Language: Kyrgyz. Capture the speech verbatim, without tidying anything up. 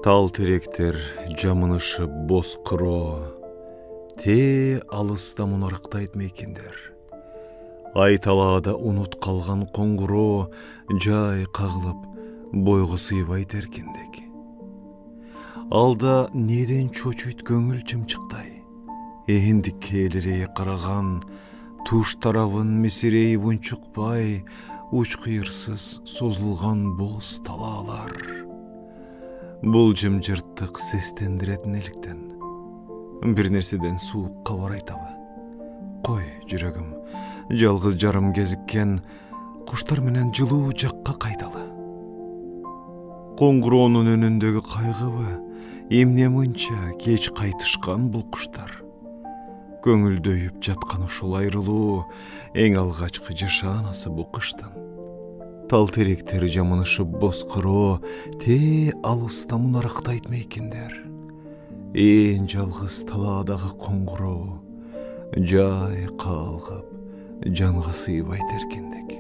Тал теректер жамынышып боскуроо, те алыста мунарыктайт мекендер. Ай талаада унут калган коңгуроо жай кагылып бойго сыйбайт эркиндик. Алда неден чочуйт көңүл чымчыктай, эндикке элерейе караган туш тарабын месирейип унчукпай, уч кыйырсыз созулган боз талаалар. Бул жымжырттык сестендирет неликтен, бир нерседен суук кабар айтабы? Кой, жүрөгүм, жалгыз жарым кезиккен куштар менен жылуу жакка кайталы. Коңгуроонун өнүндөгү кайгыбы, эмне мынча кеч кайтышкан бул куштар? Көңүлдөйүп жаткан ушул айрылуу эң алгачкы жашаанасы бу кыштын. Тал теректер жамынышып боскуроо, те алыста мунарыктайт мекендер. Ээн жалгыз талаадагы коңгуроо жай калгып жанга сыйбайт эркиндик.